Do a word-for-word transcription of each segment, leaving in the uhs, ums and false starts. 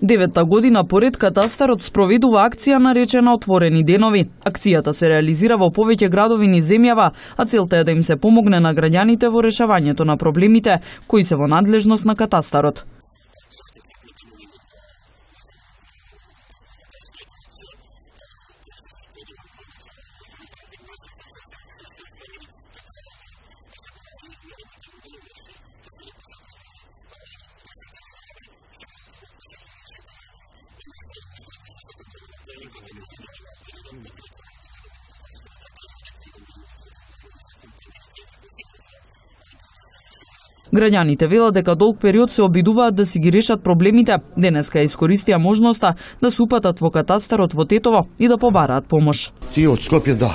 Деветта година поред катастарот спроведува акција наречена Отворени денови. Акцијата се реализира во повеќе градови низ земјава, а целта е да им се помогне на граѓаните во решавањето на проблемите кои се во надлежност на катастарот. Граѓаните велат дека долг период се обидуваат да си ги решат проблемите. Денеска искористија можноста да се упатат во катастарот во Тетово и да побараат помош. Ти од Скопје да,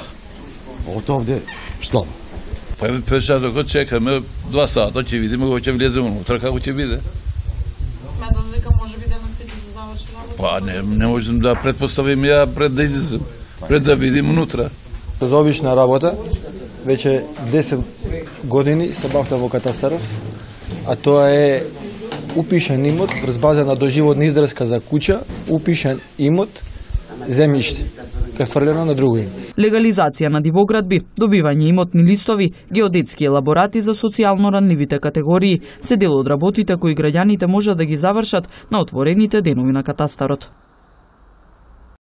од овде слабо. Па пеша докато чекаме два сата, ќе видиме кога ќе влеземе унутра, како ќе биде. Сметам дека можеби денеска ќе се заврши работа. Па не, не можем да претпоставиме ја пред да излезем, пред да видим унутра. За обична работа, веќе десет години се бавтам во катастаров, а тоа е упишан имот врз база на доживотна издрска за куќа, упишан имот, земјиште, префрлено на друго име. Легализација на дивоградби, добивање имотни листови, геодетски елаборати за социјално ранливите категории се дел од работите кои граѓаните можат да ги завршат на отворените денови на катастарот.